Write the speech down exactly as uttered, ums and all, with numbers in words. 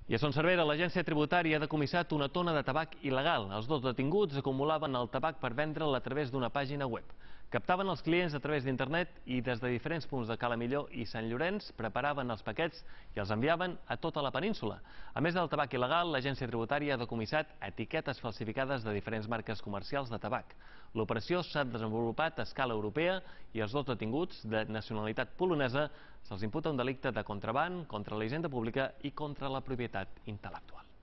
I a Son Servera, l'agència tributària ha decomissat una tona de tabac il·legal. Els dos detinguts acumulaven el tabac per vendre'l a través d'una pàgina web. Captaven els clients a través d'internet i des de diferents punts de Cala Millor i Sant Llorenç preparaven els paquets i els enviaven a tota la península. A més del tabac il·legal, l'agència tributària ha decomissat etiquetes falsificades de diferents marques comercials de tabac. L'operació s'ha desenvolupat a escala europea i els dos detinguts, de nacionalitat polonesa, se'ls imputa un delicte de contraban, contra la hisenda pública i contra la propietat intel·lectual.